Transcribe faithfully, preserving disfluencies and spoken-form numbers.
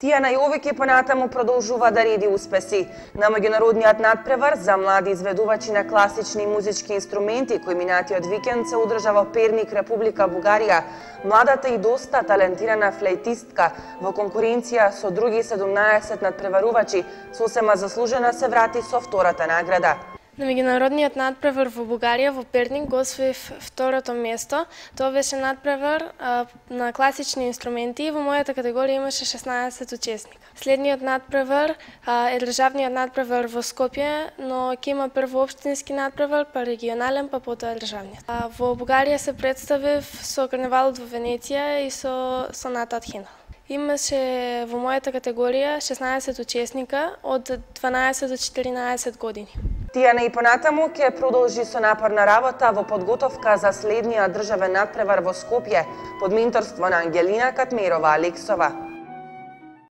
Тијана Јовик понатаму продолжува да реди успеси. На меѓународниот надпревар за млади изведувачи на класични музички инструменти кој минатиот викенд се одржа во Перник, Република Бугарија, младата и доста талентирана флейтистка во конкуренција со други седумнаесет надпреварувачи сосема заслужена се врати со втората награда. На меѓународниот надпревар во Бугарија, во Перник, го освоив второто место. Тоа беше надпревар а, на класични инструменти и во мојата категорија имаше шеснаесет учесника. Следниот надпревар а, е државниот надпревар во Скопје, но ќе има прво општински надпревар, па регионален, па потоа државниот. А, во Бугарија се представив со карневалот во Венеција и со сонатат Хинал. Имаше во мојата категорија шеснаесет учесника од дванаесет до четиринаесет години. Тијана и понатаму ќе продолжи со напорна работа во подготовка за следниот државен надпревар во Скопје под менторство на Ангелина Катмерова Алексова.